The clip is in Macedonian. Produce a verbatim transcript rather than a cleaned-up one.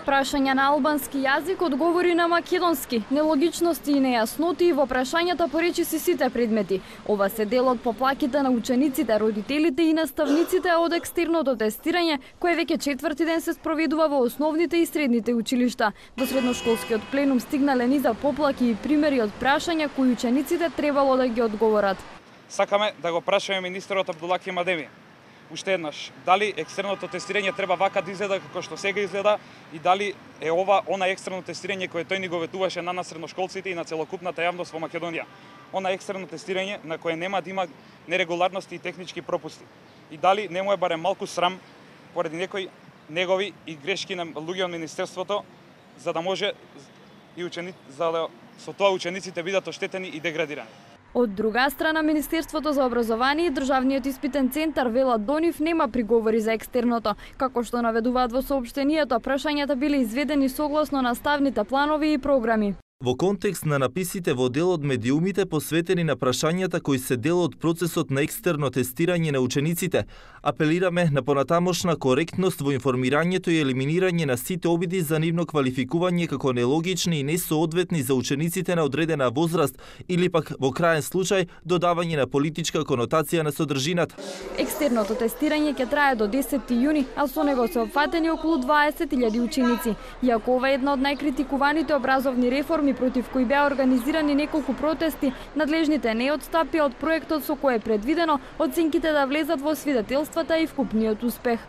Прашања на албански јазик одговори на македонски, нелогичности и нејасноти во прашањата поречиси сите предмети. Ова се дел од поплаките на учениците, родителите и наставниците од екстерното тестирање, кое веќе четврти ден се спроведува во основните и средните училишта. Во средношколскиот пленум стигнале низа поплаки и примери од прашања кои учениците требало да ги одговорат. Сакаме да го прашаме министерот Абдулаки Мадеви уште еднаш, дали екстерното тестирање треба вака да изгледа како што сега изгледа и дали е ова она екстерно тестирање кое тој ни го ветуваше на нас средношколците и на целокупната јавност во Македонија. Она екстерно тестирање на кое нема да има нерегуларности и технички пропусти. И дали не му е барем малку срам поради некои негови и грешки на луѓе од министерството, за да може и ученици, за да со тоа учениците бидат оштетени и деградирани. Од друга страна, Министерството за образование и Државниот испитен центар велат до нив нема приговори за екстерното. Како што наведуваат во соопштенијето, прашањата биле изведени согласно наставните планови и програми. Во контекст на написите во дел од медиумите посветени на прашањата кои се дел од процесот на екстерно тестирање на учениците, апелираме на понатамошна коректност во информирањето и елиминирање на сите обиди за нивно квалификување како нелогични и несоодветни за учениците на одредена возраст или пак во краен случај додавање на политичка конотација на содржината. Екстерното тестирање ќе трае до десети јуни, а со него се опфатени околу дваесет илјади ученици. Иако ова е една од најкритикуваните образовни реформи против кои беа организирани неколку протести, надлежните не отстапија од проектот со кој е предвидено оценките да влезат во свидетелствата и вкупниот успех.